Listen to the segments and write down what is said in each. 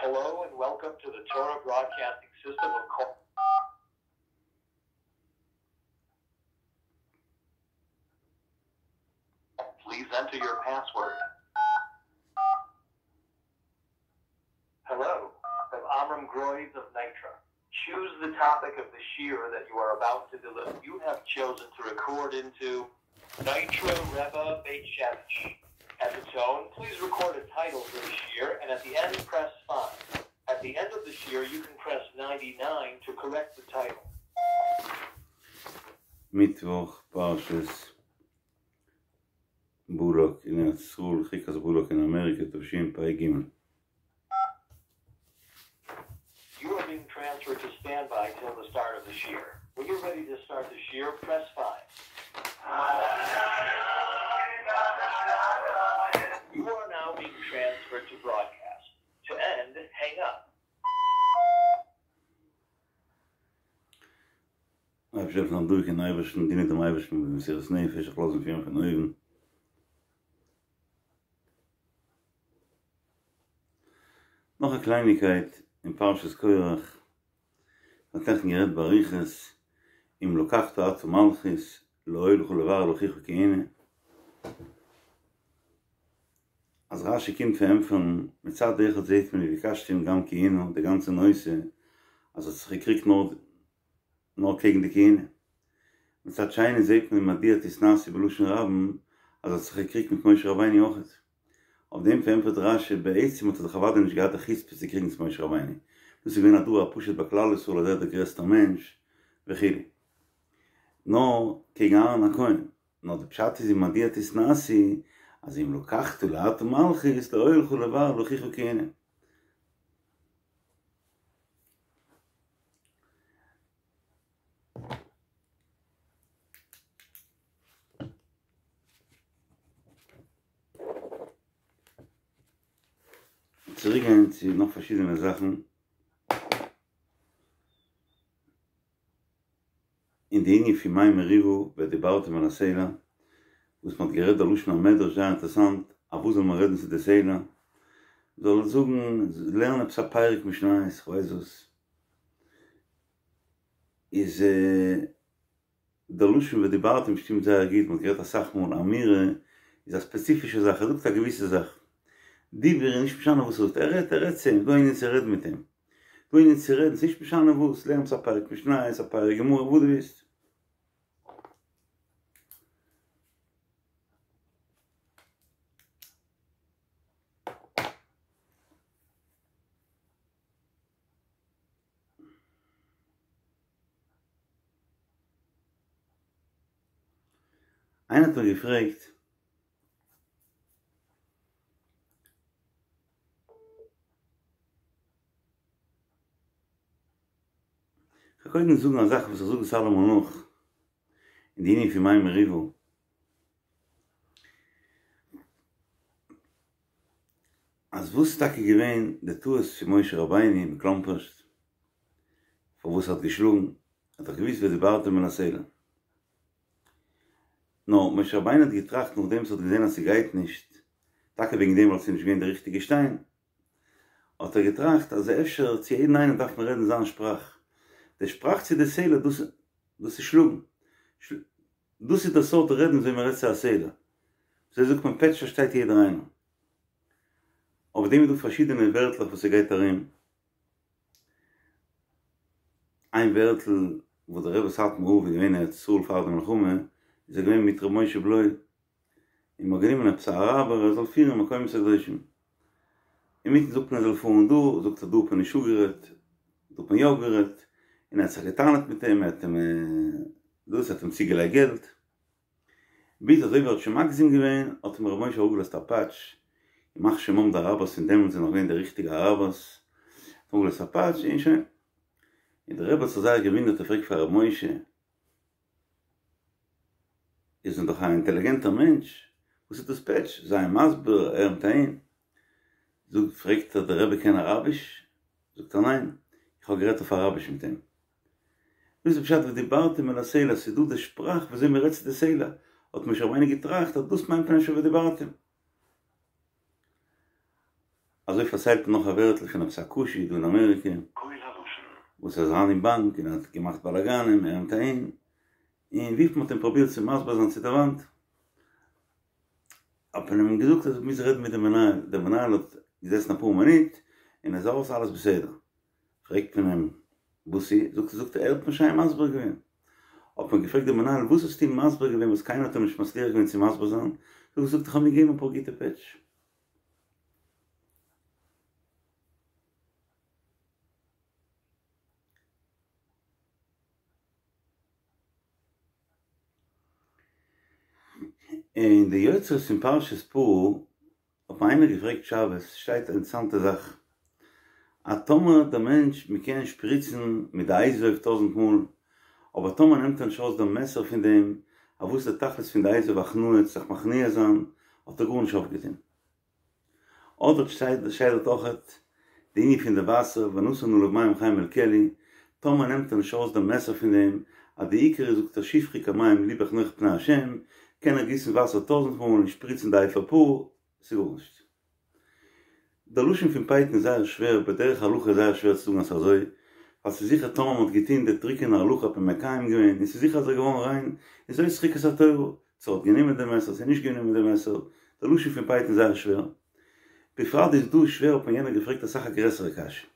Hello and welcome to the Torah Broadcasting System of Please enter your password. Hello, from Amram Groys of Nitra. Choose the topic of the shiur that you are about to deliver. You have chosen to record into Nitra Rebbe Beit Shemesh. At the tone, please record a title for the shiur, and at the end, press 5. At the end of the shiur, you can press 99 to correct the title. מיטוואך פרשת בלק אין ארץ ישראל, חוקת בלק אין אמעריקע תשפ"ג. You are being transferred to standby till the start of the shiur. When you're ready to start the shiur, press 5. You are now being transferred to broadcast. To end, hang up. אייבערשטער זאל דורך אין אייבערשטן, דינען דעם אייבערשטן מיט מסירות נפש, זיך לאזן פירן פון אויבן. נאך א קלייניקייט אין פרשת קורח, מ'האט נעכטן גערעדט באריכות, אם לקחת אתה מלכות, לא היה לך לברר לאחיך כהונה. אז רשי קומט פארענטפערן, מצד אחד זעהט מען וביקשתם גם כהונה, די גאנצע נושא, אז ער האט זיך געקריגט נאר נאר קעגן די כהונה. מצד שני זעהט מען מדוע תתנשאו בלשון רבים אז ער האט זיך געקריגט מיט משה רבינו אויכעט. אויף דעם פארענטפערט רשי, בעצם האט ער זיך אוודאי נישט געהאט די חוצפה צו קריגן צו משה רבינו, דאס איז געווען א דבר הפשוט ביי כלל ישראל אז ער איז דער גרעסטער מענטש וכו'. נאר קעגן אהרן הכהן. נאר די פשט איז ומדוע תתנשאו אז אם לקחת אתה מלכות לא היה לך לברר לאחיך כהונה. צוריק גיין צו נאך פארשידענע זאכן אין די ענין פון מי מריבה ודיברתם אל הסלע וואס מען האט גערעדט די לשון המדרש זייער אינטערעסאנט אויף וואס זאל מען רעדן צו די סלע זאל זאגן לערן עפעס א פרק משניות כ'ווייס וואס איז די לשון ודיברתם שטימט זייער גוט, מ'האט גערעדט אסאך מאל אמירה איז א ספעציפישע זאך, ער זאגט א געוויסע זאך. דיבור איז נישט משנה וואס ער זאגט, ער רעדט, ער רעדט צו אים, דא איינער צו רעדן מיט אים, דא איינער צו רעדן, ס'נישט משנה וואס, לערנסט א פרק משניות, א פרק גמרא, וואס דו ווילסט. איינער האט מיר געפרעגט כ'וועל קודם זאגן א זאך וואס איך זאג עס אלעמאל נאך אין די ענין פון מי מריבה. אז וואס איז טאקע געווען די טעות פון משה רבינו מקלומפערשט פארוואס ער האט געשלאגן, ער האט דאך געוואוסט ודברתם אל הסלע. נאר משה רבינו האט געטראכט נאכדעם וואס ער האט געזען אז ס'גייט נישט, טאקע וועגן דעם ווייל ס'איז נישט געווען די ריכטיגע שטיין, האט ער געטראכט אז אפשר צו יעדן איינעם דארף מען רעדן זיין שפראך, די שפראך צו די סלע דאס דאס איז שלאגן, דאס איז די סארט רעדן וויאזוי מען רעדט צו א סלע, אזוי זאגט מען פעטש פארשטייט יעדער איינער. אויף דעם איז דא פארשידענע ווערטלעך וואס ס'גייט ארום. איין ווערטל וואס דער רבי סאטמאר רב איז געווען אין ארץ ישראל פאר די מלחמה, איז ער געווען מיט ר' משה בלוי, און מ'האט גענומען עפעס א אראבער ער זאל פירן מקומות הקדושים. אינמיטן זאגט מען ער זאל פארן דא, זאגט ער דא האט מען נישט אפגערעדט, דא האט מען יא אפגערעדט, און ער האט זיך געטענה'ט מיט אים, ער האט אים דאס, ער האט אים צוגעלייגט געלט. ביז אזוי ווי ער האט שוין מגזים געווען האט אים ר' משה אראפגעלאזט א פאטש, ימח שמם די אראבערס פון דעמאלטס זענען נאך געווען די ריכטיגע אראבערס, האט אראפגעלאזט א פאטש און שוין. און דער רבי האט זיך זייער געוואונדערט ער פרעגט פאר ר' משה, איר זענט דאך א אינטעליגענטער מענטש, וואס איז דאס פעטש? זיי אים מסביר, ער נעמט אהין. זאגט, פרעגט ער, דער רבי קען אראביש? זאגט ער, ניין, איך האב גערעדט אויף אראביש מיט אים. דאס איז פשט ודיברתם אל הסלע, ס'איז דא די שפראך וויאזוי מ'רעדט צו די סלע, האט משה רבינו געטראכט אז דאס מיינט מען אפשר ודיברתם. אזוי פארציילט מען נאך א ווערטל פון עפעס א כושי דא אין אמעריקע, וואס איז אריין אין באנק און האט געמאכט באלאגאנען, ער נעמט אהין, און וויפיל מ'האט אים פרובירט צו מסביר זיין צו די וואנט, האט מען אים געזאגט אז ער מוז רעדן מיט די מנהל, דער מנהל האט געזעסן אפאר מינוט און ער איז ארויס אלעס בסדר. פרעגט מען אים וואס איז, זאגט ער זאגט ער ער האט מיר שיין מסביר געווען. האט מען געפרעגט דעם מנהל וואס האסטו אים מסביר געווען וואס קיינער האט אים נישט מצליח געווען צו מסביר זיין, זאגט ער זאגט איך האב אים געגעבן אפאר גוטע פעטש. אין די יוצרות פון פרשת פרה האט מיר איינער געפרעגט שבת, שטייט א אינטערעסאנטע זאך, אז טאמער דער מענטש, מען קען שפריצן מיט די אזוב טויזנט מאל, אבער טאמער נעמט ער נישט ארויס דעם מעסער פון דעם, אז וואס איז די תכלית פון די אזוב הכנעה, זיך מכניע זיין, האט ער גארנישט אויפגעטון. אדער שטייט דארט אויכעט די ענין פון די וואסער ונתן עליו מים חיים אל כלי, טאמער נעמט ער נישט ארויס דעם מעסער פון דעם, אז די עיקר איז זאגט ער שפכו כמים לבך נוכח פני השם, קען ער גיסן וואסער טויזנט מאל און שפריצן די אפר פרה, ס'איז גארנישט. דער לשון פון פייטן איז זייער שווער, בדרך הלכה איז זייער שווער צו זאגן אז ס'איז אזוי, ווייל ס'איז זיכער טאמער מ'האט געטון די טרוקענע הלכה האט מען מקיים געווען, און ס'איז זיכער אז ער איז געווארן ריין, און זאת חוקת התורה, צו ער האט גענומען די מעסער צו נישט גענומען די מעסער, די לשון פון פייטן איז זייער שווער. בפרט איז דא שווער האט מיר יענער געפרעגט אסאך א גרעסערע קשיא.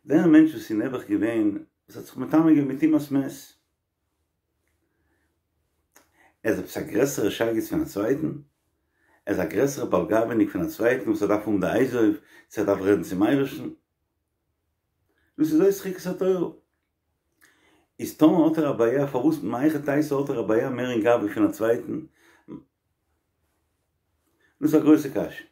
דער מענטש וואס איז נעבעך געווען וואס האט זיך מטמא געווען מיט טומאת מת, ער איז עפעס א גרעסערע שייגעץ פון א צווייטן? ער איז א גרעסערע בעל גאווה'ניק פון א צווייטן וואס ער דארף האבן די אזוב צו ער דארף רעדן צום אייבערשטן? דאס איז זאת חוקת התורה. איז טאמער האט ער א בעיה פארוואס מהיכי תיתי האט ער א בעיה מער אין גאווה פון א צווייטן? דאס איז א גרויסע קשיא.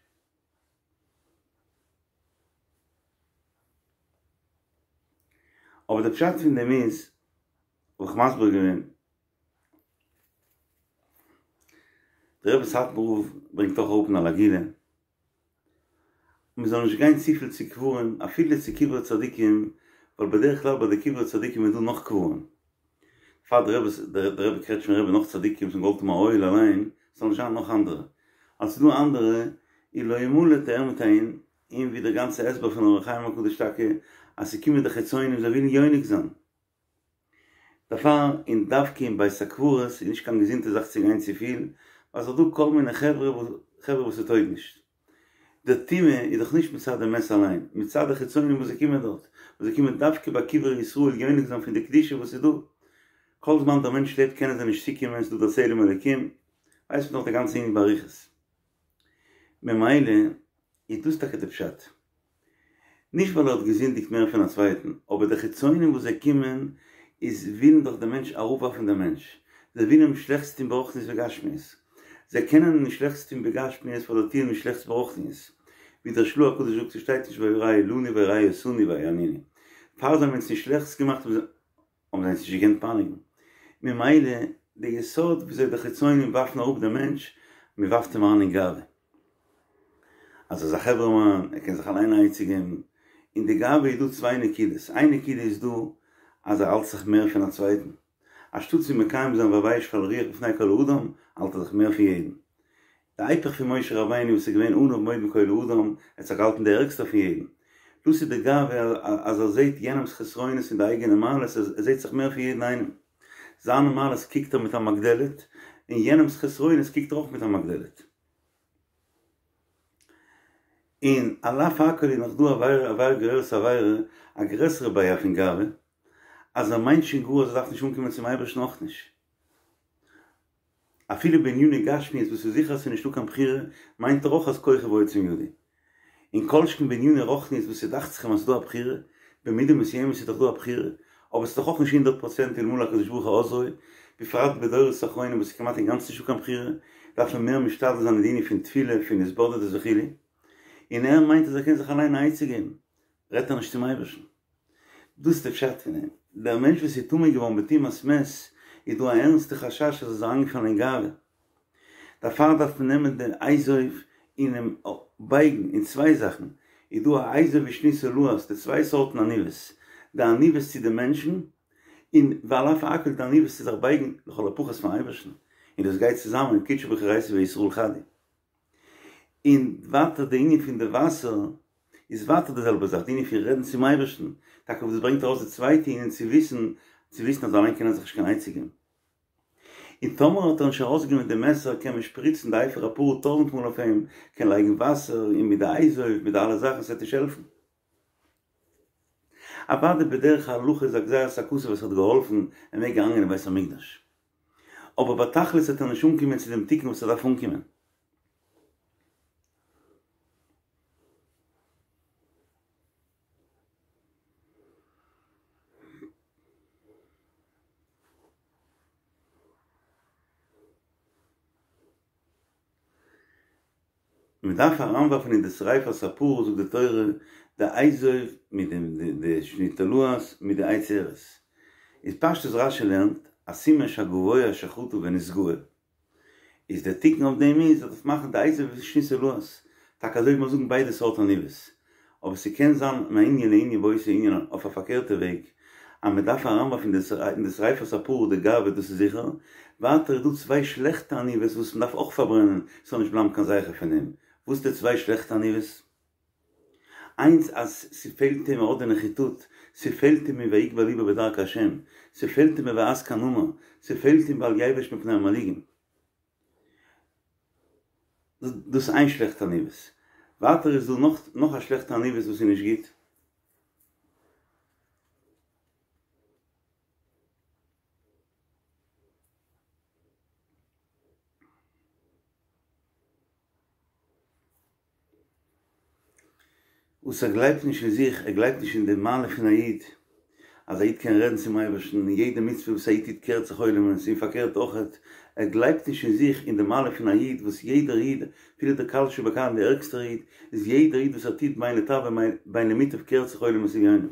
אבער די פשט פון דעם איז, האב איך מסביר געווען, דער רבי סאטמאר רב ברענגט אויך אראפ אין על הגאולה, מען זאל נישט גיין צופיל צו קברים, אפילו צו קברי צדיקים, ווייל בדרך כלל ביי די קברי צדיקים איז דא נאך קברים. פאר דער רבי, דער רבי קרעטשמער רבי נאך צדיקים וואס האבן געוואלט האבן א אוהל אליין, ס'זאל נישט זיין נאך אנדערע. אז ס'איז דא אנדערע, איז לא ימלט ער מיט איין, און ווי דער גאנצע הסבר פון אור החיים הקדוש טאקע, אז ס'קומען די חיצונים זיי ווילן יונק זיין. דערפאר און דווקא אין בית הקברות איז נישט קיין געזונטע זאך צו גיין צופיל, ווייל ס'איז דא כל מיני חברה חברה וואס ס'טויג נישט. די טומאה איז דאך נישט מצד די מת אליין, מצד די חיצונים וואס זיי קומען דארט, וואס זיי קומען דווקא ביי קברי ישראל יונק זיין פון די קדושה וואס איז דא. כל זמן דער מענטש לעבט קענען זיי נישט צוקומען, ס'איז דא דער צלם אלוקים, ווייסט מען דאך די גאנצע ענין באריכות. ממילא איז דאס טאקע די פשט. נישט ווייל ער האט געזינדיגט מער פון א צווייטן, אבער די חיצונים וואס זיי קומען איז ווילן דאך די מענטש אראפווארפן די מענטש, זיי ווילן אים שלעכטס טון ברוחניות וגשמיות, זיי קענען אים נישט שלעכטס טון בגשמיות ווייל זיי טוען אים שלעכטס ברוחניות, ווי דער של"ה הקדוש זאגט ס'שטייט נישט וירעו לנו וירעו אותנו ויענונו, פאר זיי האבן אונז נישט שלעכטס געמאכט האבן זיי אונז נישט געקענט פייניגן, ממילא די יסוד וויאזוי די חיצונים ווארפן אראפ די מענטש, מען ווארפט אים אריין אין גאווה. אז ער איז א חברה'מאן, ער קען זיך אליין א עצה געבן. אין די גאווה איז דא צוויי נקודות, איין נקודה איז דא אז ער האלט זיך מער פון א צווייטן, אנשטאט צו מקיים זיין והוי' שפל רוח בפני כל האדם, האלט ער זיך מער פון יעדן. די היפך פון משה רבינו וואס איז געווען עניו מאוד מכל האדם, ער האט זיך געהאלטן די ערגסטע פון יעדן. דאס איז די גאווה אז ער זעט יענעמ'ס חסרונות און די אייגענע מעלות, ער זעט זיך מער פון יעדן איינעם. זיינע מעלות קוקט ער מיט א מגדלת, און יענעמ'ס חסרונות קוקט ער אויך מיט א מגדלת. און על אף הכל איז נאך דא עבירה עבירה גוררת עבירה, א גרעסערע בעיה פון גאווה, אז ער מיינט שוין גאר אז ער דארף נישט אנקומען צום אייבערשטן אויך נישט. אפילו בעניני גשמיות וואס איז זיכער אז ס'איז נישטא קיין בחירה, מיינט ער אויך אז כוחי ועוצם ידי. און כל שכן בעניני רוחניות וואס ס'דאכט זיך אים אז ס'איז דא א בחירה, במידה מסוימת איז דאך דא א בחירה, אבער ס'איז דאך אויך נישט הונדערט פראצענט אלמלא הקדוש ברוך הוא עוזרו, בפרט בדורות האחרונים וואס איז כמעט אינגאנצן נישטא קיין בחירה, דארף מען מער משתדל זיין אין די ענין פון תפילה, פון התבודדות וכו'. און ער מיינט אז ער קען זיך אליין א עצה געבן, רעדט ער נישט צום אייבערשטן. דאס איז די פשט פון דעם. דער מענטש וואס איז טמא געווארן בטומאת מת, איז דא א ערנסטע חשש אז ער איז אריינגעפאלן אין גאווה. דערפאר דארף מען נעמען די אזוב און אים בייגן אין צוויי זאכן, איז דא א אזוב ושני תולעת, די צוויי סארטן עניוות, די עניוות צו די מענטשן, און ועל אף הכל די עניוות צו זיך בייגן לכל הפחות פארן אייבערשטן, און דאס גייט צוזאמען, קודשא בריך הוא אורייתא וישראל חד הוא. און ווייטער די ענין פון די וואסער איז ווייטער די זעלבע זאך, די ענין פון רעדן צום אייבערשטן, טאקע וואס דאס ברענגט ארויס די צווייטע ענין צו וויסן, צו וויסן אז אליין קען ער זיך נישט קיין עצה געבן. און טאמער האט ער נישט ארויסגענומען די מעסער קען מען שפריצן די אפר הפרה טויזנט מאל אויף אים, קען לייגן וואסער און מיט די אזוב מיט די אלע זאכן ס'וועט נישט העלפן. אוודאי בדרך ההלכה איז א גזירת הכתוב וואס האט געהאלפן ער מעג אריינגיין אין בית המקדש. אבער בתכלית וועט ער נישט אנקומען צו דעם תיקון וואס ער דארף אנקומען. מען דארף אריינווארפן אין די שריפת הפרה זאגט די תורה די אזוב מיט די שני תולעת מיט די עץ ארז איז פשטות רשי לערנט א סימן שהגבוה שחטא ונתגאה איז דער תיקון אויף דעם איז אז דארף מאכן די אזוב ושני תולעת, טאקע אזוי ווי מיר זאגן ביידע סארט עניוות, אבער ס'קען זיין מענין לענין באותו ענין אויף א פארקערטע וועג, אז מ'דארף אריינווארפן אין די שריפת הפרה די גאווה דאס איז זיכער, ווייטער איז דא צוויי שלעכטע עניוות וואס מ'דארף אויך פארברענען ס'זאל נישט בלייבן קיין זכר פון דעם, וואס די צוויי שלעכטע עניוות? איינס אז ס'פעלט אים ער האט די נחיתות, ס'פעלט אים אין ויגבה לבו בדרכי השם, ס'פעלט אים אין ויהס כנמר, ס'פעלט אים ואל יבוש מפני המנהיגים. דאס איז איין שלעכטע עניוות. ווייטער איז דא נאך נאך א שלעכטע עניוות וואס איז נישט גוט. וואס ער גלייבט נישט אין זיך, ער גלייבט נישט אין די מעלה פון א איד, אז א איד קען רעדן צום אייבערשטן, און יעדע מצוה וואס א איד טוט קערט זיך עולמות, און פארקערט אויכעט, ער גלייבט נישט אין זיך, אין די מעלה פון א איד, וואס יעדער איד, אפילו דער קל שבקלים דער ערגסטער איד, איז יעדער איד וואס ער טוט בין לטב ובין למוטב קערט זיך עולמות עליונים.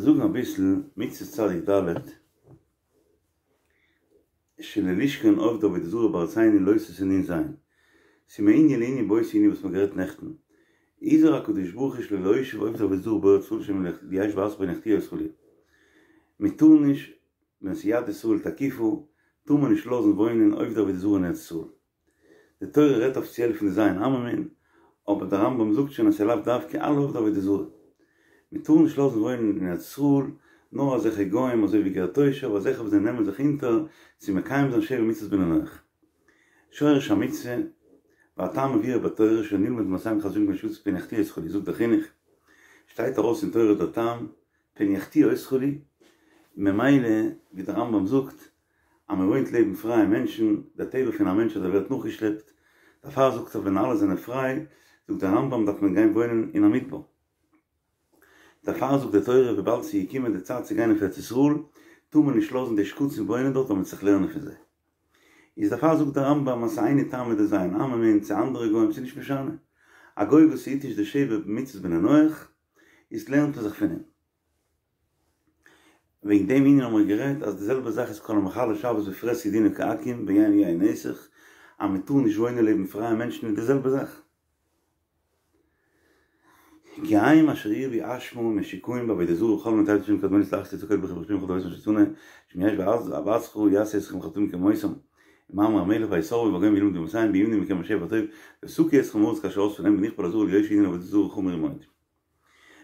זאגן אביסל מצוה צדיק ד' שלא לשכון עובדי עבודה זרה בארצינו לא תעשה נ"ז, ס'איז מענין לענין באותו ענין וואס מ'האט גערעדט נעכטן, הזהיר הקדוש ברוך הוא שלא להושיב עובדי עבודה זרה בארץ ישראל שמא ישבו בארצך פן יחטיאו אותך חלילה. מ'טאר נישט ווען ס'איז יד ישראל תקיפה טאר מען נישט לאזן וואוינען עובדי עבודה זרה אין ארץ ישראל. די תורה רעדט אפיציעל פון די ז' עממין, אבער דער רמב"ם זאגט שוין אז ס'איז לאו דווקא אלע עובדי עבודה זרה. מען טאר נישט לאזן וואוינען אין ארץ ישראל נאר אזעלכע גוים אזוי ווי גר תושב, אזעלכע וואס זיי נעמען זיך אונטער צו מקיים זיין שבע מצוות בני נח. שורש המצוה, והטעם מבואר בתורה שלא נלמד ממעשיהם חס ושלום מפני שכתוב פן יחטיאו אותך חלילה, זאגט דער חינוך, שטייט ארויס אין תורה דער טעם, פן יחטיאו אותך חלילה, ממילא ווי דער רמב"ם זאגט, אז מען וואוינט לעבן פרייע מענטשן, דער טבע פון א מענטש אז ער ווערט נאכגעשלעפט, דערפאר זאגט ער ווען אלע זענען פריי, זאגט דער רמב"ם דארף מען גיין וואוינען אין א מדבר. דערפאר זאגט די תורה וויבאלד ס'איז געקומען די צייט צו גיין אויף ארץ ישראל, טאר מען נישט לאזן די שקצים וואוינען דארט ווייל מ'וועט זיך לערנען פון זיי. איז דערפאר זאגט דער רמב"ם אז ס'איז היינו טעמא דז' עממין צו אנדערע גוים ס'איז נישט משנה. א גוי וואס היט נישט די שבע מצוות בני נח, איז לערנט מען זיך פון אים. וועגן דעם ענין האבן מיר גערעדט אז די זעלבע זאך איז כל המחלל שבת בפרהסיא דינו כעכו"ם ויין יין נסך אז מען טאר נישט וואוינען לעבן פרייע מענטשן איז די זעלבע זאך. כי הם אשר הרבו אשמה משוקעים בעבודה זרה ובכל מיני תועבות שהיו קדמוניות להכעיס את הקודש ברוך הוא בכל דורותיהם אשר שנה שאם ישבו בארצך יעשו אתכם חטאים כמותם מאמר המלך ויתערבו בגוים וילמדו אמותיהם וימנעו מכם השפע הטוב ויתקעו אתכם מהארץ כאשר אספה להם ונכפה לעזרה ליושע ענין עבודה זרה חמור מאוד.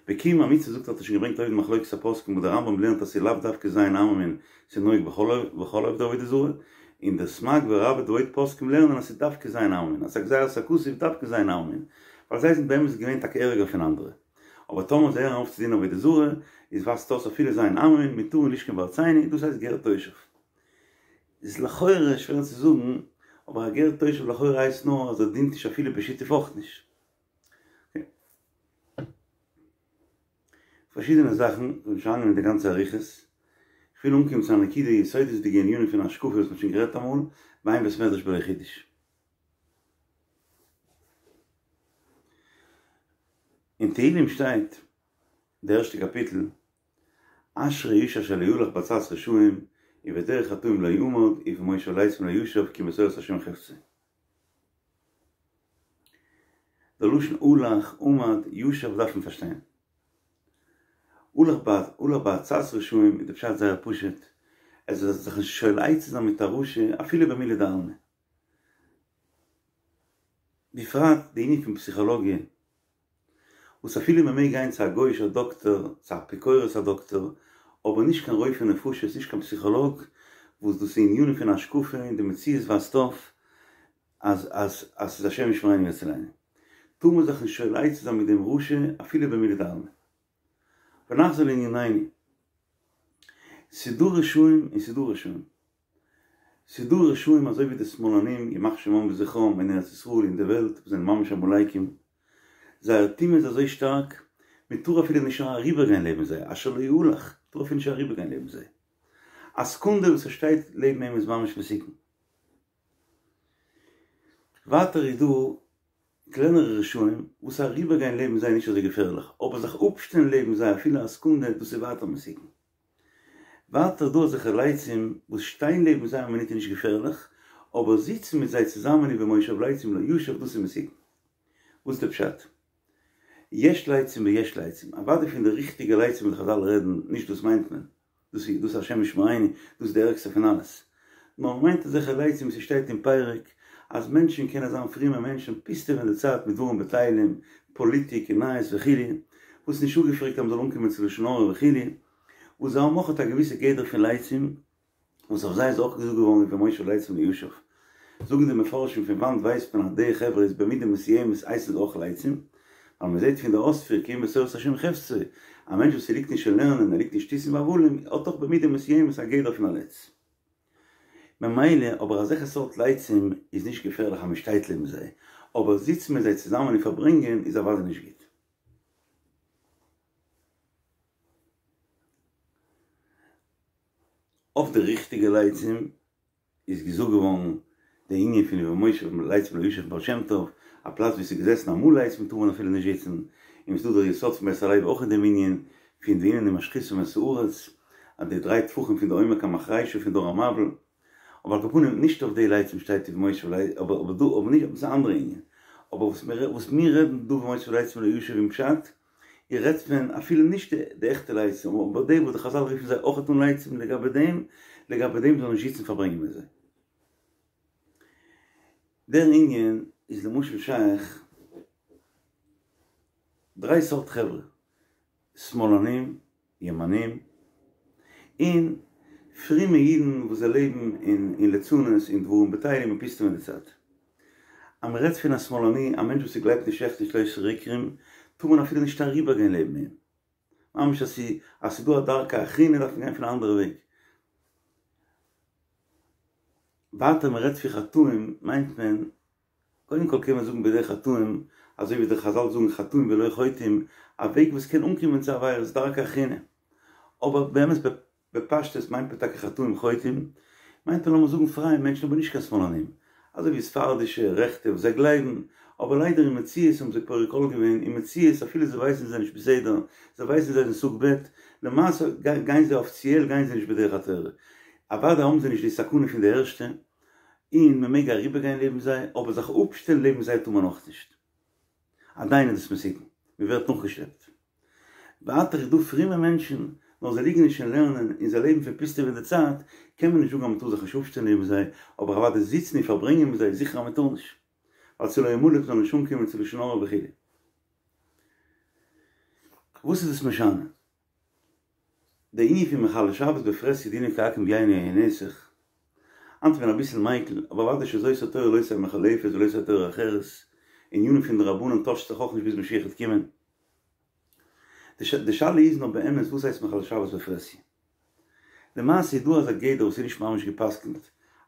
בקיום המצוה זאגט האט ער שוין געברענגט אויבן מחלוקת הפוסקים וואס דער רמב"ם לערנט אז ס'איז לאו דווקא ז' עממין ס'איז נוהג בכל עובדי עבודה זרה, און דער סמ"ג והראב"ד ועוד פוסקים לערנען אז ס'איז דווקא ז' עממין אז ס'איז א גזירת הכתוב דווקא ז' עממין ווייל זיי זענען באמת געווען טאקע ערגער פון אנדערע אבער טאמער זיי הערן אויף צו דינען עבודה זרה איז ווייזט אויס אפילו ז' עממין מותרין לשכון בארצינו דאס הייסט גר תושב איז לכאורה שווער צו זאגן אבער א גר תושב לכאורה הייסט נאר אז ער דינט נישט אפילו בשיתוף אויך נישט. פארשידענע זאכן, איך וויל נישט אריינגיין אין די גאנצע אריכות, איך וויל אנקומען צו א נקודה יסודות'דיגע ענינים פון השקפה וואס מ'האט שוין גערעדט אמאל, ואין בית מדרש בלא חידוש. אין תהלים שטייט, די ערשטע קאפיטל, אשרי האיש אשר לא הלך בעצת רשעים, ובדרך חטאים לא עמד, ובמושב לצים לא ישב, כי בתורת השם חפצו. די לשון הלך, עמד, ישב דארף מען פארשטיין. הלך בעצת רשעים איז די פשט זייער פשוט, ער זאל זיך נישט שואל עצה זיין מיט א רשע אפילו במילי דעלמא. בפרט די ענין פון פסיכאלאגיע. וואס אפילו מען מעג גיין צו א גוי'אישער דאקטער, צו א אפיקורס א דאקטער, אבער נישט קיין רופא נפשות, נישט קיין פסיכאלאג, וואס דאס איז ענינים פון השקפה און די מציאות ווייזט אויף אז אז אז ס'איז השם ישמרינו ויצילנו. טאר מען זיך נישט שואל עצה זיין מיט דעם רשע אפילו במילי דעלמא. ונחזור לענינינו. ס'דא רשעים און ס'דא רשעים. ס'דא רשעים אזוי ווי די שמאלנים ימח שמם וזכרם אין ארץ ישראל אין די וועלט וואס זענען ממש עמלקים, זייער טומאה איז אזוי שטארק מען טאר אפילו נישט אריבער גיין לעבן זיי, אשר לא הלך, מען טאר אפילו נישט אריבער גיין לעבן זיי, א סעקונדע וואס ער שטייט לעבן אים איז ממש מסוכן. ווייטער איז דא קלענערע רשעים וואס אריבער גיין לעבן זיי איז נישט אזוי געפערליך, אבער זיך אפשטעלן לעבן זיי אפילו א סעקונדע דאס איז ווייטער מסוכן. ווייטער דא אזעלכע לצים וואס שטיין לעבן זיי א מינוט איז נישט געפערליך, אבער זיצן מיט זיי צוזאמען ובמושב לצים לא ישב דאס איז מסוכן. וואס איז די פשט? יש לצים ויש לצים, אוודאי פון די ריכטיגע לצים וואס חזל רעדן, נישט דאס מיינט מען, דאס איז דאס השם ישמרינו, דאס איז די ערגסטע פון אלעס. נאר מען מיינט אזעלכע לצים וואס ס'שטייט אין פרק אז מענטשן קענען זיין פרומע מענטשן פוסטעווען די צייט מיט דברים בטלים, פאליטיק און נייעס וכו', וואס איז נישט אפגעפרעגט אז מ'זאל אנקומען צו לשון הרע וכו', וואס זיי האבן אויך א געוויסע גדר פון לצים, וואס אויף זיי איז אויך געזאגט געווארן ובמושב לצים לא ישב. זאגן די מפרשים פון וואנט ווייסט מען אז די חברה איז במידה מסוימת הייסן זיי אויך לצים, ווייל מען זעט פון די אויספיר כי אם בתורת השם חפצו, א מענטש וואס ליגט נישט אין לערנען, ער ליגט אין שטותים והבלים, האט דאך במידה מסוימת א גדר פון א לץ. ממילא אבער אזעלכע סארט לצים איז נישט געפערליך אז מען שטייט לעבן זיי, אבער זיצן מיט זיי צוזאמען און פארברענגען איז אוודאי נישט גוט. אויף די ריכטיגע לצים איז געזאגט געווארן די ענין פון ובמושב לצים לא ישב בעל שם טוב, א פלאץ ווי ס'איז געזעסן אמאל לצים טאר מען אפילו נישט זיצן, און ס'איז דא דער יסוד פון בית הלוי אויך אין דעם ענין. פון והנני משחיתם את הארץ, אז די דריי טפחים פון די עומק המחרישה פון דור המבול, אבער על כל פנים נישט אויף די לצים שטייט ובמושב לצים, אבער אבער דא אבער נישט, דאס איז א אנדערע ענין, אבער וואס מיר וואס מיר רעדן דא ובמושב לצים לא ישב אין פשט, איר רעדט פון אפילו נישט די עכטע לצים, אבער די וואס די חזל רופן זיי אויכעט אן לצים לגבי דעם, לגבי דעם זאל נישט זיצן פארברענגען מיט זיי. דער ענין איז למשל שייך דריי סארט חברה, שמאלנים, ימנים, און פרומע אידן וואס זיי לעבן אין ליצנות און דברים בטלים און פוסטעווען די צייט. אז מען רעדט פון א שמאלני, א מענטש וואס ער גלייבט נישט עכט אין שלשה עיקרים, טאר מען אפילו נישט אריבערגיין לעבן אים. ממש אז ס'איז דא א דרכא אחרינא דארף מען גיין פון א אנדערע וועג. ווייטער מען רעדט פון חטאים מיינט מען קודם כל קען מען זאגן בדרך חטאים, אזוי ווי די חזל זאגן חטאים ולא חוטאים, א וועג וואס קען אנקומען צו עבירות דרכא אחרינא. אבער באמת בפשטות מיינט מען טאקע חטאים חוטאים, מיינט מען לאמיר זאגן פרייע מענטשן אבער נישט קיין שמאלנים, אזוי ווי ספרדישע רעכטע וואס זיי גלייבן, אבער ליידער אין מציאות האבן זיי פורק עול געווען, אין מציאות אפילו זיי ווייסן זיי זענען נישט בסדר, זיי ווייסן זיי זענען סוג ב', למעשה גייען זיי אפיציעל גייען זיי נישט בדרך התורה, אוודאי האבן זיי נישט די סכנה פון די ערשטע, און מען מעג אריבערגיין לעבן זיי, אבער זיך אפשטעלן לעבן זיי טאר מען אויך נישט. עדיין איז דאס מסוכן, מען ווערט נאכגעשלעפט. ווייטער איז דא פרומע מענטשן, נאר זיי ליגן נישט אין לערנען און זיי לעבן פון פוסטעווען די צייט, קען מען נישט זאגן אז מען טאר זיך נישט אפשטעלן לעבן זיי, אבער אוודאי זיצן און פארברענגען מיט זיי איז זיכער אז מען טאר נישט, ווייל צו לא ימלט זאל נישט אנקומען צו לשון הרע וכו'. וואס איז דאס משנה? די ענין פון מחלל שבת בפרהסיא דינו כעכו"ם ביין או יין נסך, היינט איז מען אביסל מיקל, אבער אוודאי שזאת התורה לא תהא מחולפת ולא תהא תורה אחרת, ענינים פון די רבנן טוישט זיך אויך נישט ביז משיח וועט קומען. די שאלה איז נאר באמת וואס הייסט מחלל שבת בפרהסיא? למעשה איז דא אזא גדר וואס איז נישט ממש גע'פסק'נט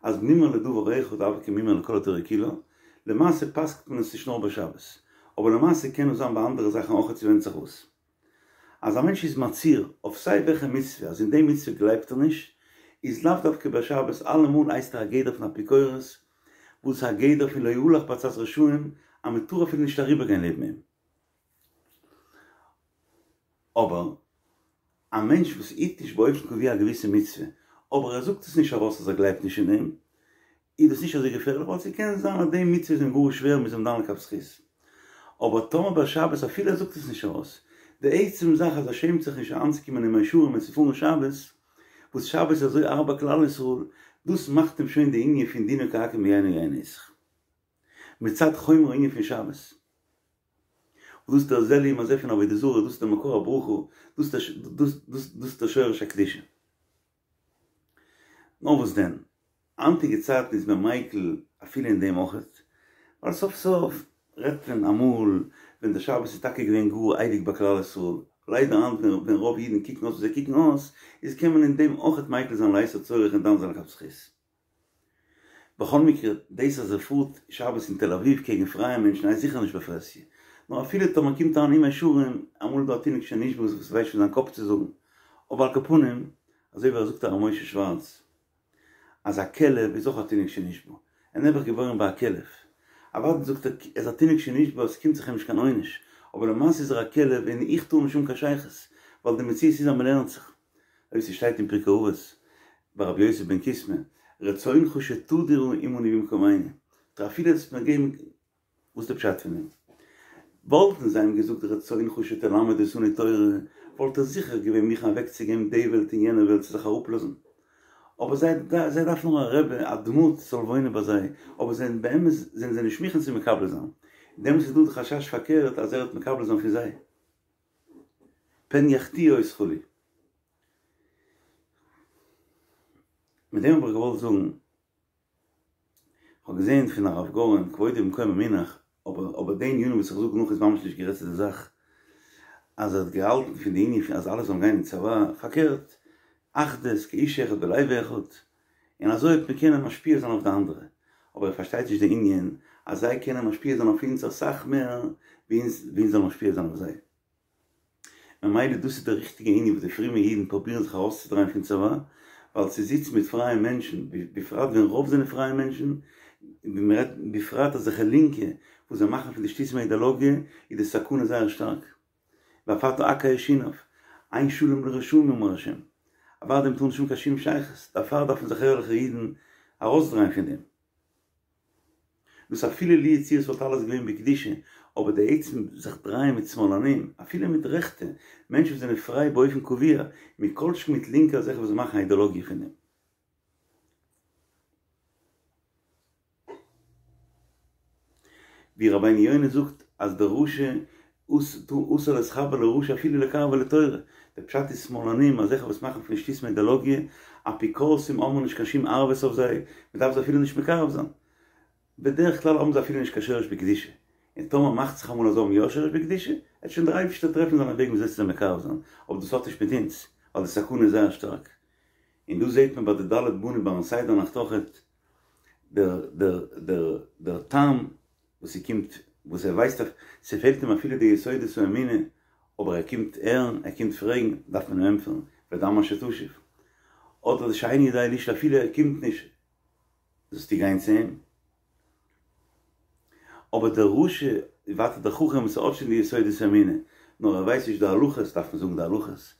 אז מומר לדבר אחד הוי כמומר לכל התורה כולה, למעשה פסק'נט מען עס נישט נאר ביי שבת, אבער למעשה קען עס זיין ביי אנדערע זאכן אויכעט ס'ווענדט זיך וואס. אז א מענטש איז מצהיר אויף סיי וועלכע מצוה אז אין די מצוה גלייבט ער נישט, איז לאו דווקא ביי שבת אלעמאל הייסט ער א גדר פון אפיקורס, וואס איז א גדר פון לא הלך בעצת רשעים אז מען טאר אפילו נישט אריבערגיין לעבן אים. אבער א מענטש וואס היט נישט באופן קבוע א געוויסע מצוה, אבער ער זאגט עס נישט ארויס אז ער גלייבט נישט אין דעם, איז דאס נישט אזוי געפערליך ווייל ס'קען זיין אז די מצוה איז אים גאר שווער מ'איז אים דן לכף זכות. אבער טאמער ביי שבת אפילו ער זאגט עס נישט ארויס, די עצם זאך אז ער שעמט זיך נישט אריינצוקומען אין מאה שערים און צו פארן שבת, וואס שבת איז אזוי הארב ביי כלל ישראל, דאס מאכט אים שוין די ענין פון דינו כעכו"ם ביין או יין נסך. מצד חומר הענין פון שבת. וואס דאס איז דער זה לעומת זה פון עבודה זרה, דאס איז דער מקור הברכה, דאס איז דער שורש הקדושה. נאר וואס דען, היינטיגע צייטן איז מען מיקל אפילו אין דעם אויכעט, ווייל סוף סוף רעדט מען אמאל ווען דער שבת איז טאקע געווען גאר הייליג ביי כלל ישראל, ליידער היינט ווען רוב אידן קוקן אויס ווי זיי קוקן אויס, איז קען מען אין דעם אויכעט מיקל זיין לעת הצורך און דן זיין לכף זכות. בכל מקרה, דאס אז ער פארט שבת אין תל אביב קעגן פרייע מענטשן הייסט זיכער נישט בפרהסיא. נאר אפילו טאמער קומט אריין אין מאה שערים, אמאל איז דא א תינוק שנשבה וואס ווייסט שוין זיין קאפ צו זאגן. אבער על כל פנים, אזוי ווי ער זאגט הרב משה שווארץ, אז א כלב איז אויך א תינוק שנשבה. ער איז נעבעך געבוירן ביי א כלב. אוודאי זאגט ער, ער איז א תינוק שנשבה, עס קומט זיך אים נישט קיין עונש. אבער למעשה איז ער א כלב און איך טאר נישט האבן קיין שייכות. ווייל די מציאות איז אז מ'לערנט זיך. אויב ס'שטייט אין פרקי אבות ביי רבי יוסי בן קיסמא, רצונך שתדור עמנו במקומנו, טא אפילו עס מיר געבן, וואס איז די פשט פון דעם? וואלטן זיי אים געזאגט רצונך שתלמד אותנו תורה, וואלט ער זיכער געווען מוכן אוועקצוגעבן די וועלט און יענע וועלט צו זיך אראפלאזן. אבער זיי זיי דארפן נאר א רבי, א דמות זאל וואוינען ביי זיי, אבער זיי באמת זענען זיי נישט מוכן צו מקבל זיין. דעמאלטס איז דא די חשש פארקערט אז ער וועט מקבל זיין פון זיי. פן יחטיאו אותך לי. מיט דעם האב איך געוואלט זאגן, כ'האב געזען פון הרב גורן, כבודו במקומו מונח, אבער אבער די ענינים וואס איך זאג נאך איז ממש נישט גערעדט צו די זאך, אז ער האט געהאלטן פון די ענין פון אז אלע זאלן גיין אין צבא, פארקערט, אחדות, כאיש אחד בלב אחד, און אזוי וועט מען קענען משפיע זיין אויף די אנדערע, אבער ער פארשטייט נישט די ענין אז זיי קענען משפיע זיין אויף אונז אסאך מער ווי אונז ווי אונז זאלן משפיע זיין אויף זיי. ממילא דאס איז די ריכטיגע ענין וואס די פרומע אידן פרובירן זיך ארויסצודרייען פון צבא, ווייל צו זיצן מיט פרייע מענטשן, בפרט ווען רוב זענען פרייע מענטשן, ווי מען רעדט בפרט אזעלכע לינקע וואס זיי מאכן פון די שטותים א אידעלאגיע, איז די סכנה זייער שטארק. ואף אתה הקהה שיניו. אין שלום לרשעים אמר השם, אוודאי מ'טאר נישט האבן קיין שום שייכות, דערפאר דארפן זיך ערליכע אידן ארויסדרייען פון דעם. דאס אפילו לו יצוייר ס'וואלט אלעס געווען בקדושה, אבער די עצם זיך דרייען מיט שמאלנים, אפילו מיט רעכטע, מענטשן וואס זענען פריי באופן קבוע, מכל שכן מיט לינקע אזעלכע וואס מאכן א אידאלאגיע פון דעם. ווי רבינו יונה זאגט אז דער רשע אסור להתחבר לרשע אפילו לקרבו לתורה, דער פשט איז שמאלנים אזעלכע וואס מאכן פון שטותים אידאלאגיע, אפיקורסים האבן מיר נישט קיין שום ערבות אויף זיי, מען דארף זיי אפילו נישט מקרב זיין, בדרך כלל האבן זיי אפילו נישט קיין שורש בקדושה, און טאמער מאכט זיך אמאל אז זיי האבן יא שורש בקדושה, עט שוין דער אייבערשטער טרעפן זיינע וועגן וויאזוי צו זיי מקרב זיין, אבער דאס האט נישט מיט אונז, ווייל די סכנה איז זייער שטארק. און דא זעט מען ביי די ד' בנים ביים סדר נאכט אויכעט דער דער דער דער תם וואס ס'קומט וואס ער ווייסט אז ס'פעלט אים אפילו די יסודות האמונה אבער ער קומט הערן ער קומט פרעגן דארף מען אים ענטפערן ודע מה שתשיב אדער די שאינו יודע לשאול אפילו ער קומט נישט זאלסטו גיין צו אים. אבער דער רשע, ווייטער דער חכם וואס האט שוין די יסודות האמונה, נאר ער ווייסט נישט די הלכות, דארף מען זאגן די הלכות.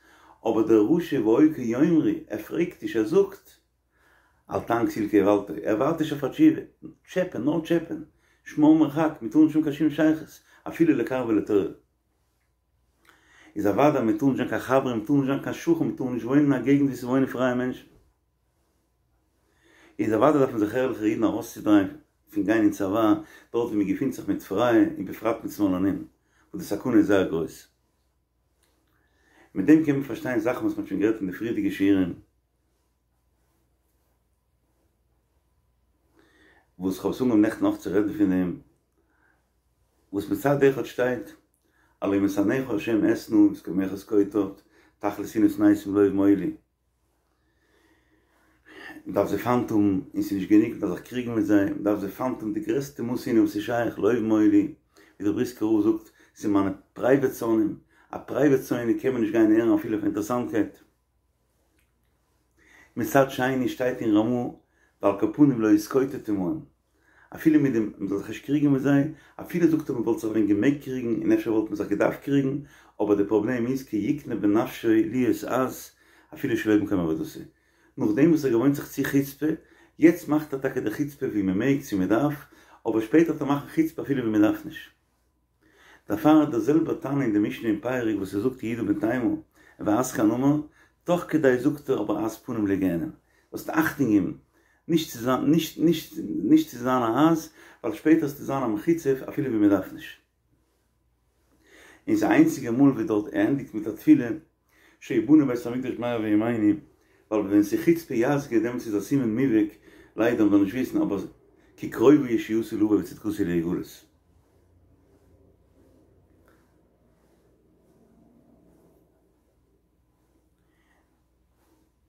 אבער דער רשע והיה כי יאמרו, ער פרעגט נישט, ער זאגט. אל תען כסיל כי איוולתו, ער ווארט נישט אויף א תשובה, טשעפען, נאר טשעפען, שמור מרחק, מען טאר נישט האבן קיין שום שייכות, אפילו לקרבו לתורה. איז אוודאי מען טאר נישט זיין קיין חבר, מען טאר נישט זיין קיין שכן, מען טאר נישט וואוינען אין א געגנט וואו ס'וואוינען פרייע מענטשן. איז אוודאי דארפן זיך ערליכע אידן ארויסצודרייען פון גיין אין צבא דארט ווי מען געפינט זיך מיט פרייע און בפרט מיט שמאלנים וואס די סכנה איז זייער גרויס. מיט דעם קען מען פארשטיין זאכן וואס מען האט שוין גערעדט אין די פריערדיגע שיעורים וואס כ'האב עס אנגעהויבן נעכטן אויך צו רעדן פון דעם וואס מצד אחד שטייט הלא משנאיך ה' אשנא ובמתקוממיך אתקוטט תכלית שנאה שנאתים לאהוב מולי. מען דארף זיי פיינט האבן, און ס'איז נישט גענוג, מען דארף זיך קריגן מיט זיי, מען דארף זיי פיינט האבן די גרעסטע מאס שנאה וואס איז שייך, לאהוב מאוד-לי, ווי דער בריסקער רב זאגט, ס'איז מיינע פרייוועט שונאים, א פרייוועט שונא קען מען נישט גיין הערן אפילו אויף אינטערעסאנטקייט. מצד שני שטייט אין רמ"א, ועל כל פנים לא יתקוטט עמהם, אפילו מיט דעם מען זאל זיך נישט קריגן מיט זיי, אפילו זאגט ער מען וואלט זיך ווען געמעגט קריגן און אפשר וואלט מען זיך געדארפט קריגן, אבער די פראבלעם איז כי יקנה בנפשו להיות עז אפילו שלא במקום עבודתו. נאכדעם וואס ער געוואוינט זיך צו חוצפה, יעצט מאכט ער טאקע די חוצפה ווי מען מעג צו מען דארף, אבער שפעטער וועט ער מאכן חוצפה אפילו ווי מען דארף נישט. דערפאר האט דער זעלבער תנא אין די משנה אין פרק וואס ער זאגט יהודה בן תימא ועז כנמר, תוך כדי זאגט ער אבער עז פנים לגיהנם, זאלסט אכטונג געבן נישט צו זיין נישט נישט נישט צו זיין א עז, ווייל שפעטער וועסטו זיין א מחוצף אפילו ווי מען דארף נישט. און ס'איז איינציגע מאל ווי דארט ער ענדיגט מיט א תפילה שיבנה בית המקדש במהרה בימינו, ווייל ווען ס'איז חוצפה יסגא דעמאלטס איז א סימן מובהק, ליידער מ'זאל נישט וויסן אבער כי קרובה ישועתי לבוא וצדקתי להגלות.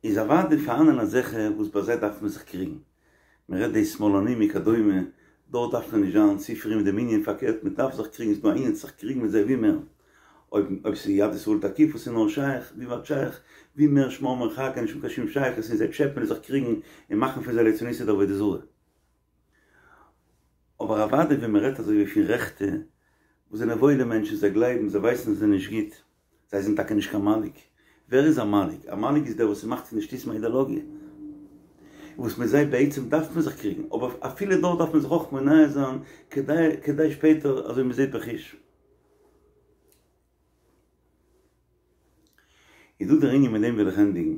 איז אוודאי פארהאנען אזעלכע וואס ביי זיי דארף מען זיך קריגן, מען רעדט די שמאלנים וכדומה, דארט דארף מען נישט זיין צו פרום מיט דעם ענין, פארקערט מען דארף זיך קריגן, ס'איז דא א ענין צו זיך קריגן מיט זיי ווי מער, אויב אויב ס'איז יד ישראל תקיף וואס איז נאר שייך, ווי ווייט שייך, ווי מער שמור מרחק און נישט האבן קיין שום שייכות און זיי טשעפען און זיך קריגן און מאכן פון זיי ליצנותא דעבודה זרה. אבער אוודאי ווען מען רעדט אזוי ווי פון רעכטע וואס זענען וואוילע מענטשן, זיי גלייבן, זיי ווייסן אז עס איז נישט גוט, זיי זענען טאקע נישט קיין מנהיג. ווער איז א מנהיג? א מנהיג איז דער וואס מאכט פון די שטותים א אידעלאגיע. וואס מיט זיי בעצם דארף מען זיך קריגן, אבער אפילו דארט דארף מען זיך אויך מונע זיין כדי כדי שפעטער אזוי מען זעט בחוש. איז דא דער ענין מיט דעם וויל איך ענדיגן.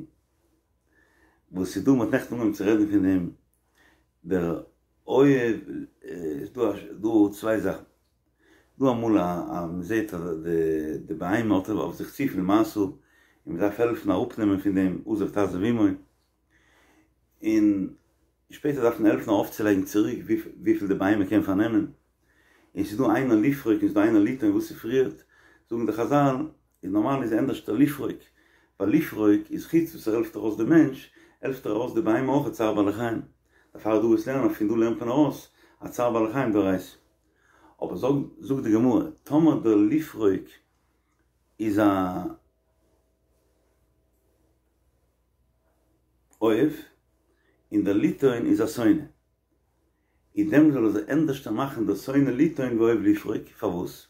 וואס איז דא, מען האט נעכטן אנגעהויבן צו רעדן פון דעם, דער אוהב, איז דא דא צוויי זאכן. דא אמאל א א מען זעט אז די די בהמה האט אויף זיך צופיל משא און מען דארף העלפן אראפנעמען פון דעם עזוב תעזוב עמו, און שפעטער דארף מען העלפן ארויפצולייגן צוריק וויפיל די בהמה קען פארנעמען, און ס'איז דא איינער לפרוק און ס'איז דא איינער לטעון וואס איז פריערט, זאגן די חזל איז נארמאל איז ענדערשטער לפרוק, ווייל לפרוק איז חוץ וואס ער העלפט ארויס די מענטש, העלפט ער ארויס די בהמה אויך צער בעלי חיים, דערפאר איז דא וואס לערנען פון דא לערנט מען ארויס אז צער בעלי חיים דאורייתא. אבער זאג זאגט די גמרא, טאמער דער לפרוק איז א אוהב און דער לטעון איז א שונא, איז דעמאלט זאל ער זיך ענדערשטער מאכן דער שונא לטעון ואוהב לפרוק, פארוואס?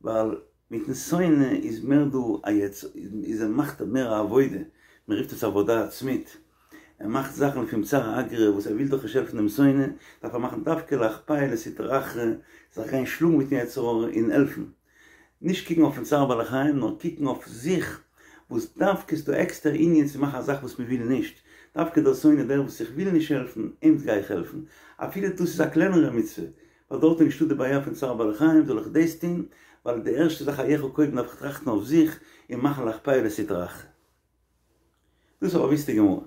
ווייל. מיטן שונא איז מער דא א יצ איז ער מאכט מער א עבודה, מען רופט עס עבודה עצמית, ער מאכט זאכן לפום צערא אגרא וואס ער וויל דאך נישט העלפן דעם שונא, דארף ער מאכן דווקא לאחפיה לסטרא אחרא, זיך גיין שלאגן מיטן יצר הרע און העלפן. נישט קוקן אויפן צער בעלי חיים נאר קוקן אויף זיך, וואס דווקא איז דא עקסטער ענין צו מאכן א זאך וואס מען וויל נישט, דווקא דער שונא דער וואס איך וויל נישט העלפן, אים גיי איך העלפן, אפילו דאס איז א קלענערע מצוה, ווייל דארט איז נישטא די בעיה פון צער בעלי חיים זאל איך דאס טון, ווייל די ערשטע זאך אייך קודם דארף איך טראכטן אויף זיך און מאכן לאחפיה לסטרא אחרא. דאס איז א באוויסטע גמרא.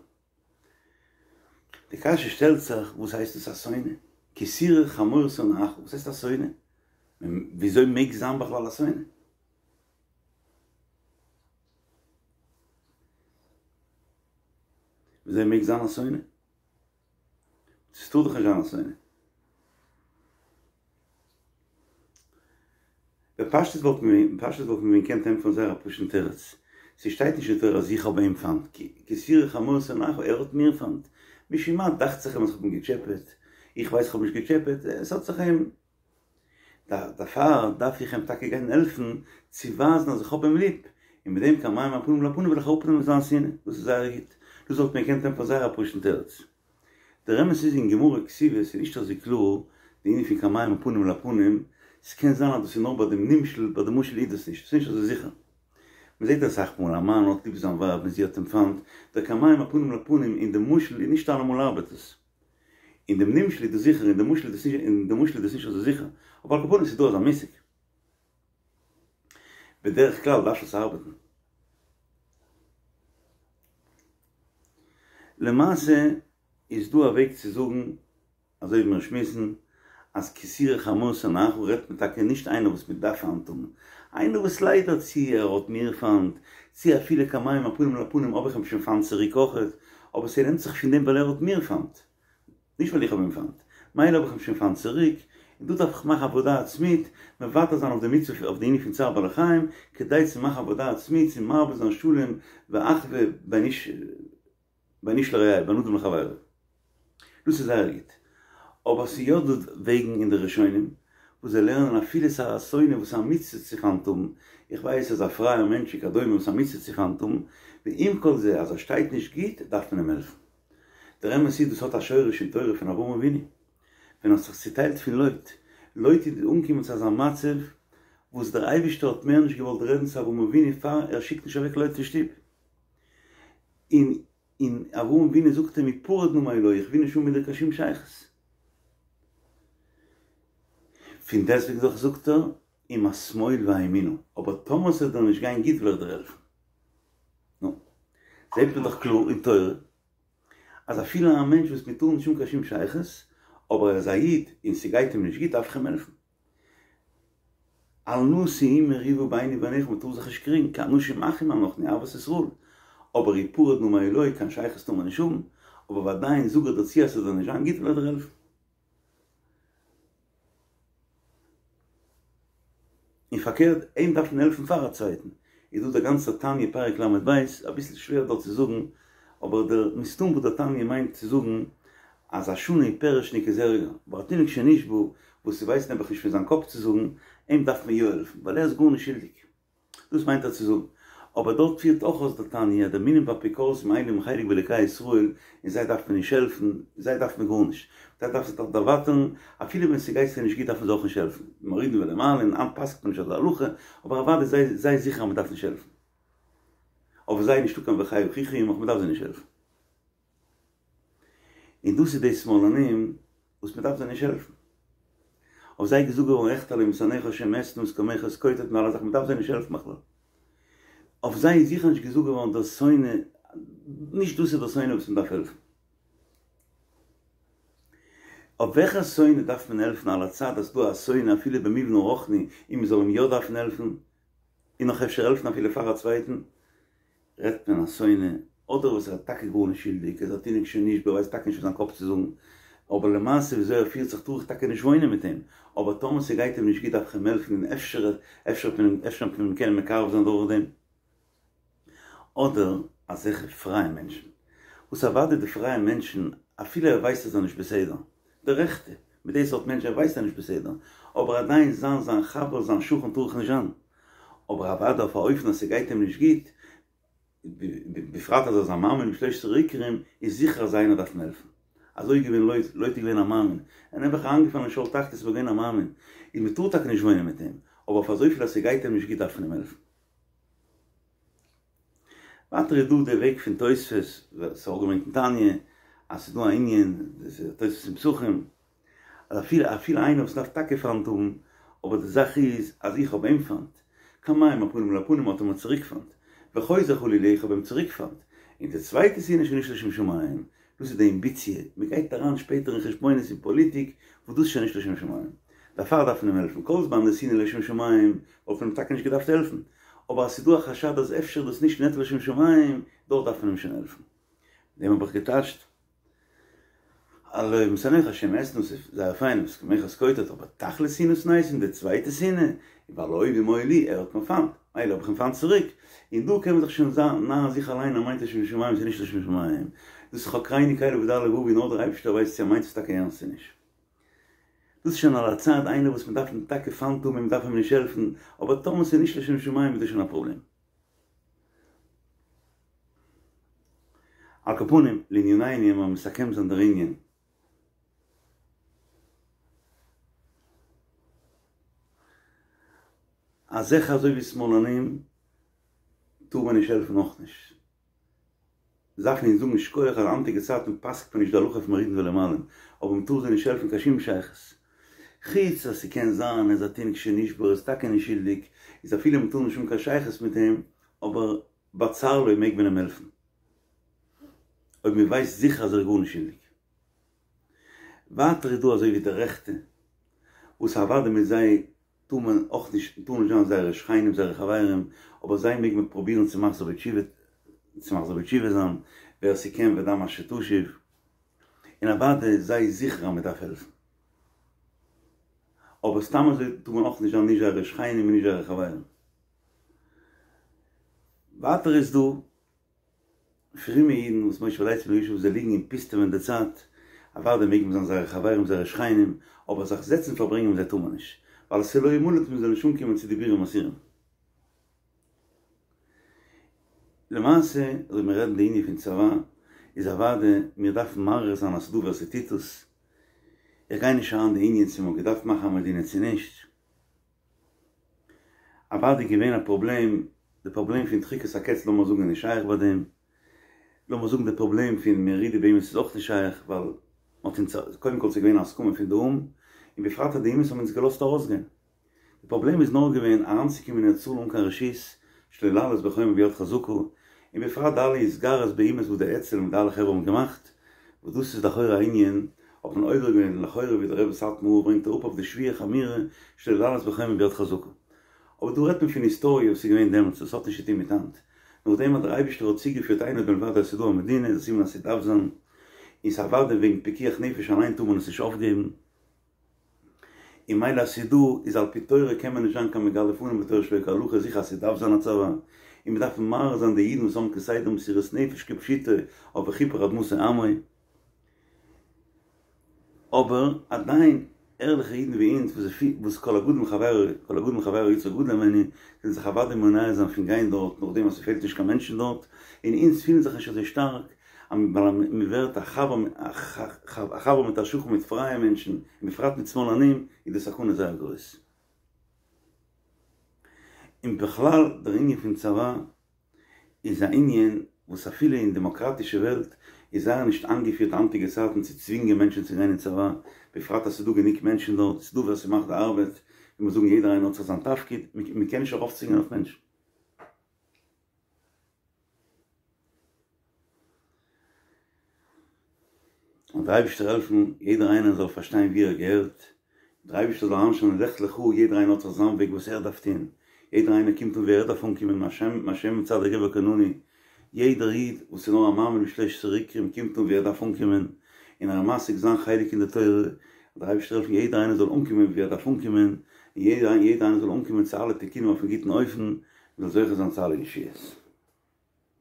די קשיא שטעלט זיך, וואס הייסט דאס א שונא? כי תראה חמור שונאך, וואס הייסט א שונא? וויאזוי מעג זיין בכלל א שונא? וויאזוי מעג זיין א שונא? ס'טאר דאך נישט זיין א שונא. בפשטות וואלט מען בפשטות וואלט מען ווען געקענט ענטפערן זייער א פשוט'ן תירוץ. ס'שטייט נישט אין תורה אז איך האב אים פיינט, כי תראה חמור שונאך, ער האט מיר פיינט. משום מה דאכט זיך אים אז כ'האב אים געטשעפעט, איך ווייס כ'האב נישט געטשעפעט, עס האט זיך אים. דערפאר דארף איך אים טאקע גיין העלפן צו ווייזן אז איך האב אים ליב, און מיט דעם כמים הפנים לפנים וועל איך אראפנעמען זיין שנאה, דאס איז זייער גוט, דאס וואלט מען געקענט ענטפערן זייער א פשוט'ן תירוץ. דער אמת איז אין גמרא כתובות איז נישט אזוי קלאר די ענין פון כמים הפנים לפנים, ס'קען זיין אז דאס איז נאר ביי דעם נמשל, ביי די משל איז דאס נישט, ס'איז נישט אזוי זיכער. מ'זעט אסאך מאל א מאן האט ליב זיין ווייב און זי האט אים פיינט, דער כמים הפנים לפנים אין די משל איז נישט אלעמאל ארבעט עס. אין דעם נמשל איז דאס זיכער, אין די משל איז דאס נישט, אין די משל איז דאס נישט אזוי זיכער, אבער על כל פנים ס'איז דא אזא מושג. בדרך כלל דארף עס ארבעטן. למעשה איז דא א וועג צו זאגן, אזוי ווי מיר שמועסן, אז כי תראה חמור שונאך רעדט מען טאקע נישט איינער וואס מען דארף פיינט האבן, איינער וואס ליידער צו ער האט מיר פיינט, צו אפילו כמים הפנים לפנים האב איך אים שוין פיינט צוריק אויכעט, אבער ס'נעמט זיך פון דעם ווייל ער האט מיר פיינט, נישט ווייל איך האב אים פיינט, מילא האב איך אים שוין פיינט צוריק, און דא דארף איך מאכן עבודה עצמית, מוותר זיין אויף די מצוה אויף די ענין פון צער בעלי חיים, כדי צו מאכן עבודה עצמית צו מרבה זיין שלום ואחווה בין איש בין איש לרעהו בין אדם לחבירו. דאס איז זייער גוט. אבער ס'איז יא דא וועגן אין די ראשונים וואס זיי לערנען אפילו ס'איז א שונא וואס איז א מצוה צו פיינט האבן, איך ווייס אז א פרייער מענטש וכדומה וואס איז א מצוה צו פיינט האבן, ועם כל זה אז ער שטייט נישט גוט דארף מען אים העלפן. דער אמת איז דאס האט א שורש אין תורה פון אברהם אבינו ווען ער האט זיך צוטיילט פון לוט, לוט איז אנגעקומען צו אזא מצב וואס דער אייבישטער האט מער נישט געוואלט רעדן צו אברהם אבינו פאר ער שיקט נישט אוועק לוט פון שטוב, און און אברהם אבינו זאגט אים הפרד נא מעלי איך וויל נישט האבן מיט דיר קיין שום שייכות. פון דעסטוועגן דאך זאגט ער אם השמאל ואימינה, אבער טאמער ס'וועט דיר נישט גיין גוט וועל איך דיר העלפן. נו, זעט מען דאך קלאר אין תורה אז אפילו א מענטש וואס מיר טארן נישט האבן קיין שום שייכות, אבער ער איז א איד און ס'גייט אים נישט גוט דארף איך אים העלפן. אל נא שאו מריבה ביני וביניך מען טאר זיך נישט קריגן, כי אנשים אחים אנחנו אהבת ישראל, אבער הפרד נא מעלי קיין שייכות טאר מען נישט האבן, אבער ועדיין זאג איך דיר צו אז ס'זאל נישט זיין גוט וועל איך דיר העלפן. און פארקערט, אים דארף מען העלפן פאר א צווייטן, איז דא דער גאנצער תניא פרק ל"ב, אביסל שווער דארט צו זאגן, אבער דער מסתם וואס דער תניא מיינט צו זאגן אז א שנוי פירוש'ניק איז ערגער, אבער א תינוק שנשבה וואס ס'ווייסט נעבעך נישט פון זיין קאפ צו זאגן, אים דארף מען יא העלפן, ווייל ער איז גארנישט שולדיג. דאס מיינט ער צו זאגן. אבער דארט פירט אויך אויס דער תניא, די מינים ואפיקורסים אין להם חלק באלוקי ישראל, און זיי דארף מען נישט העלפן, זיי דארף מען גארנישט. זיי דארף זיך דאך דערווייטערן, אפילו ווען ס'גייט זיי נישט גוט דארף מען זיי אויך נישט העלפן. מורידין ולא מעלין, היינט פסק'ט מען נישט אזא הלכה, אבער אוודאי זיי זיי זיכער אז מ'דארף נישט העלפן. אויף זיי איז נישטא קיין וחי אחיך עמך, מ'דארף זיי נישט העלפן. און דאס איז די שמאלנים וואס מ'דארף זיי נישט העלפן. אויף זיי איז געזאגט געווארן אחטא לאם משנאיך ה' אתנה את קמיך אתקוטט מיט אלע זאכן מ'דארף זיי נישט העלפן בכלל. אויף זיי איז זיכער נישט געזאגט געווארן דער שונא, נישט דאס איז דער שונא וואס מ'דארף העלפן. אויף וועלכע שונא דארף מען העלפן על הצד אז ס'דא א שונא אפילו במובן הרוחני און מ'זאל אים יא דארפן העלפן און נאך אפשר העלפן אפילו פאר א צווייטן רעדט מען א שונא אדער וואס ער איז טאקע גארנישט שולדיג ער איז א תינוק שנשבה ווייסט טאקע נישט פון זיין קאפ צו זאגן אבער למעשה וויאזוי ער פירט זיך טאר איך טאקע נישט וואוינען מיט אים אבער טאמער ס'גייט אים נישט גוט דארף איך אים העלפן און אפשר אפשר וועט מען אפשר וועט מען אים קענען מקרב זיין דורכדעם. אדער אזעלכע פרייע מענטשן, וואס אוודאי די פרייע מענטשן אפילו ער ווייסט אז ער נישט בסדר, די רעכטע, מיט די סארט מענטשן ער ווייסט ער נישט בסדר, אבער עדיין זיין זיין חבר זיין שכן טאר איך נישט זיין. אבער אוודאי אויף א אופן אז ס'גייט אים נישט גוט, בפרט אז ער איז א מאמין בשלושת עיקרים, איז זיכער אז איינער דארף אים העלפן. אזוי איז געווען לוט, לוט איז געווען א מאמין, ער איז נעבעך אריינגעפאלן אין שאול תחתית אבער געווען א מאמין, איז מ'טאר טאקע נישט וואוינען מיט אים, אבער אויף אזויפיל אז ס'גייט אים נישט גוט דארף מען אים העלפן. ווייטער איז דא די וועג פון תוספות, וואס איז אויך געברענגט אין תניא, אז ס'איז דא א ענין, דאס איז תוספות אין פסחים, אז אפילו אפילו איינער וואס דארף טאקע פיינט האבן, אבער די זאך איז אז איך האב אים פיינט, כמים הפנים לפנים האט ער מיר צוריק פיינט, וחוזר חלילה איך האב אים צוריק פיינט, און די צווייטע שנאה איז שוין נישט לשם שמים, דאס איז די אמביציע, מען גייט אריין שפעטער אין חשבונות און פאליטיק, וואס דאס איז שוין נישט לשם שמים. דערפאר דארף מען אים העלפן, כל זמן די שנאה לשם שמים וואלט מען אים טאקע נישט געדארפט העלפן, אבער אז ס'איז דא א חשד אז אפשר איז דאס נישט נטו לשם שמים, דארט דארף מען אים שוין העלפן. דעם האב איך געטייטשט. הלא משנאיך השם אשנא ס'איז זייער פיין ומתקוממיך אתקוטט אבער תכלית שנאה שנאתים די צווייטע שנאה ווייל האויבים היו לי ער האט מיר פיינט מילא האב איך אים פיינט צוריק און דא קען מען זיך שוין זיין נארן זיך אליין ער מיינט לשם שמים ס'איז נישט לשם שמים דאס חקרני קל ודע לבבי נאר דער אייבערשטער ווייסט צו ער מיינט עס טאקע ערנסט צו נישט דאס איז שוין על הצד איינער וואס מ'דארף אים טאקע פיינט האבן און מ'דארף אים נישט העלפן אבער טאמער ס'איז נישט לשם שמים איז דאס שוין א פראבלעם. על כל פנים, לענינינו לאמיר מסכם זיין דער ענין. אזעלכע אזוי ווי שמאלנים טאר מען נישט העלפן אויך נישט. דארף מען זאגן שכוח אז היינטיגע צייטן פסק'ט מען נישט די הלכה פון מורידין ולא מעלין, אבער מען טאר זיי נישט העלפן קיין שום שייכות. חוץ אז ס'קען זיין אז א תינוק שנשבה איז טאקע נישט שולדיג, איז אפילו מען טאר נישט האבן קיין שייכות מיט אים, אבער בצר לו מעג מען אים העלפן. אויב מען ווייסט זיכער אז ער איז גארנישט שולדיג. ווייטער איז דא אזוי ווי די רעכטע, וואס אוודאי מיט זיי טאר מען אויך נישט, טאר נישט זיין זייערע שכנים זייערע חברים, אבער זיי מעג מען פרובירן צו מחזיר בתשובה, צו מחזיר בתשובה זיין, ווער ס'קען ודע מה שתשיב, און אוודאי זיי זיכער אז מ'דארף העלפן. אבער סתם אזוי טאר מען אויך נישט זיין נישט זייערע שכנים און נישט זייערע חברים. ווייטער איז דא פרומע אידן וואס מושב לצים לא ישוב זיי ליגן און פוסטעווען די צייט, אוודאי מעג מען זיין זייערע חברים זייערע שכנים, אבער זיך זעצן פארברענגען מיט זיי טאר מען נישט, ווייל עס איז לא ימלט מען זאל נישט אנקומען צו דיבורים אסורים. למעשה אויב מיר רעדן די ענין פון צבא, איז אוודאי מיר דארפן מעריך זיין אז ס'דא ווער ס'טוט עס, איך גיי נישט אריין די ענין צו מ'האט געדארפט מאכן א מדינה צו נישט, אוודאי געווען א פראבלעם, די פראבלעם פון דחיקת הקץ לאמיר זאגן איז נישט שייך ביי דעם, לאמיר זאגן די פראבלעם פון מרידה באומות איז אויך נישט שייך ווייל מ'האט אונז, קודם כל ס'איז געווען א הסכמה פון די או"ם, און בפרט אז די אומות האבן אונז געלאזט ארויסגיין. די פראבלעם איז נאר געווען אריינצוקומען אין ארץ ישראל אן קיין רשות, שלא לעלות בחומה ביד חזקה, און בפרט די אלע התגרות באומות וואס די אצ"ל מיט די אלע חברה האבן געמאכט, וואס דאס איז לכאורה א ענין, האט מען עובר געווען לכאורה ווי דער רבי סאטמאר ברענגט אראפ אויף די שבועה חמורה שלא לעלות בחומה ביד חזקה. אבער דא רעדט מען פון היסטאריע וואס איז געווען דעמאלטס דאס האט נישט צוטון מיט היינט. נאכדעם אז דער אייבישטער האט צוגעפירט אין עוד מלבדו אז ס'איז דא א מדינה איז א סימן אז ס'דארף זיין, און ס'אוודאי וועגן פיקוח נפש אליין טאר מען עס נישט אויפגעבן. און מילא אז ס'איז דא, איז על פי תורה קען מען נישט זיין קיין מגלה פנים בתורה שלא כהלכה, זיכער אז ס'דארף זיין א צבא, און מ'דארף מעריך זיין די אידן וואס האבן כסדר מסירות נפש כפשוטו אויף וכפר אדמתו עמו. אבער עדיין ערליכע אידן ווי אונז וואס וואס כל הגדול מחבירו כל הגדול מחבירו יצרו גדול הימנו זענען זיך אוודאי מונע זיין פון גיין דארט נאכדעם אז ס'פעלט נישט קיין מענטשן דארט, און אונז פילן זיך נישט אזוי שטארק ווייל מ'ווערט א חבר א חבר מיט א שכן מיט פרייע מענטשן און בפרט מיט שמאלנים איז די סכנה זייער גרויס. און בכלל דער ענין פון צבא איז א ענין וואס אפילו אין דעמאקראטישע וועלט איז זייער נישט איינגעפירט היינטיגע צייטן צו צווינגען מענטשן צו גיין אין צבא, בפרט אז ס'איז דא גענוג מענטשן דארט, ס'איז דא ווער ס'מאכט די ארבעט, ווי מיר זאגן יעדער איינער האט זיך זיין תפקיד, מ'קען נישט ארויפצווינגען אויף מענטשן. זאל דער אייבערשטער העלפן יעדער איינער זאל פארשטיין ווי ער געהערט, דער אייבערשטער זאל אריינשטעלן לך לך, יעדער איינער האט זיך זיין וועג וואס ער דארף טון, יעדער איינער קומט אן ווי ער דארף אנקומען, מהשם מצעדי גבר כוננו, יעדער איד וואס איז נאר א מאמין בשלושת עיקרים קומט אן ווי ער דארף אנקומען, און ער איז משיג זיין חלק אין די תורה, זאל דער אייבערשטער העלפן יעדער איינער זאל אנקומען ווי ער דארף אנקומען, און יעדער איינער זאל אנקומען צו אלע תיקונים אויפן גוטן אופן, מען זאל זוכה זיין צו אלע ישועות.